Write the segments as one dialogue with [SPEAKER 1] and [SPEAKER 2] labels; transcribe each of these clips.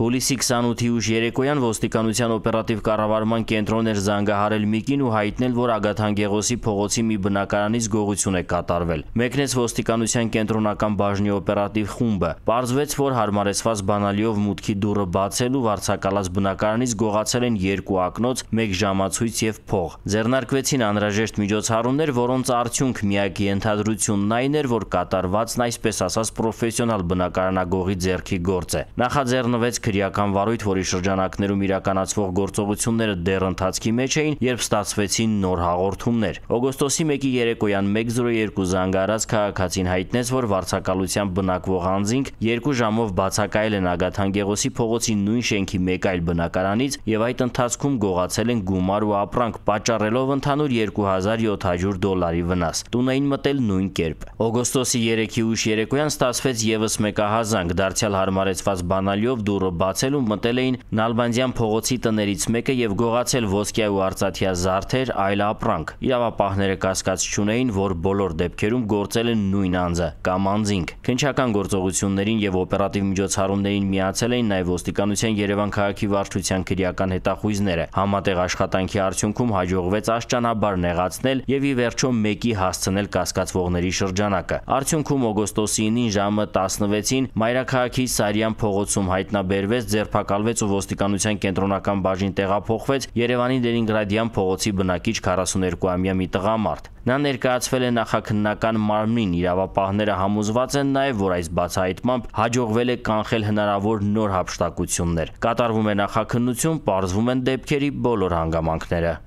[SPEAKER 1] Հուլիսի 28-ի ուշ երեկոյան ոստիկանության օպերատիվ կառավարման կենտրոն էր զանգահարել Միկին ու հայտնել, որ Ագաթանկեղոսի փողոցի մի բնակարանից գողություն է կատարվել։ Մեկնեց ոստիկանության կենտրոնական բաժնի օպերատիվ խումբը։ Պարզվեց, որ հարմարեցված բանալիով մուտքի դուռը բացելու վարձակալած բնակարանից գողացել են 2 ակնոց, 1 ժամացույց եւ փող։ Ձեռնարկվեցին անհրաժեշտ միջոցառումներ, որոնց արդյունք միակ ենթադրությունն այն էր, որ կատարվածն այսպես ասած պրոֆեսիոնալ բնակարանագողի ձեռքի գործ է։ Նախաձեռնվեց քրեական վարույթ, որի շրջանակներում իրականացվող գործողությունները դեռ ընթացքի մեջ էին, երբ ստացվեցին նոր հաղորդումներ։ Օգոստոսի 1-ի երեկոյան 1:02 զանգահարած քաղաքացին հայտնեց, որ վարձակալությամբ բնակվող անձինք 2 ժամով բացակայել են Ագաթանկեղոսի փողոցի նույն շենքի մեկ այլ բնակարանից եւ այդ ընթացքում գողացել են գումար ու ապրանք, պատճառելով ընդհանուր $2700 վնաս։ Տուն էին մտել նույն կերպ։ Օգոստոսի 3-ի ուշ երեկոյան ստացվեց եւս մեկ ահազանգ, դարձյալ հարմարեցված բանալիով դուռը բացել ու մտել էին Նալբանդյան փողոցի տներից մեկը եւ գողացել ոսկյա ու արծաթյա զարդեր, այլ ապրանք։ Իրավապահները կասկած չունեին, որ բոլոր դեպքերում գործել են նույն անձը կամ անձինք։ Քննչական գործողություններին եւ օպերատիվ միջոցառումներին միացել էին նաեւ ոստիկանության Երևան քաղաքի վարչության քրեական հետախույզները։ Համատեղ աշխատանքի արդյունքում հաջողվեց աշճանաբար նեղացնել եւ ի վերջո մեկի հասցնել կասկածվողների շրջանակը։ Արդյունքում օգոստոսի 9-ին ժամը 16-ին Մայրաքաղաքի Սարյան փողոցում հայտնաբերվեց, ձերբակալվեց ու ոստիկանության կենտրոնական բաժին տեղափոխվեց Երևանի Լենինգրադյան փողոցի բնակիչ 42-ամյա մի տղամարդ։ Նա ներկայացվել է նախաքննական մարմնին։ Իրավապահները համոզված են նաև, որ այս բացահայտմամբ հաջողվել է կանխել հնարավոր նոր հափշտակություններ։ Կատարվում է նախաքննություն, պարզվում են դեպքերի բոլոր հանգամանքները։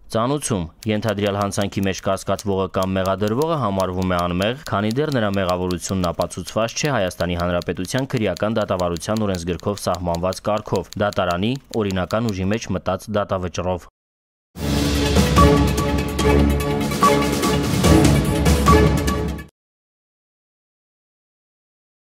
[SPEAKER 1] Ծանուցում ենթադրյալ հանցանքի մեջ կասկածվողը կամ մեղադրվողը համարվում է անմեղ, քանի դեռ նրա մեղավորությունն ապացուցված չէ Հայաստանի Հանրապետության քրեական դատավարության օրենսգրքով սահմանված կարգով՝ դատարանի օրինական ուժի մեջ մտած դատավճռով։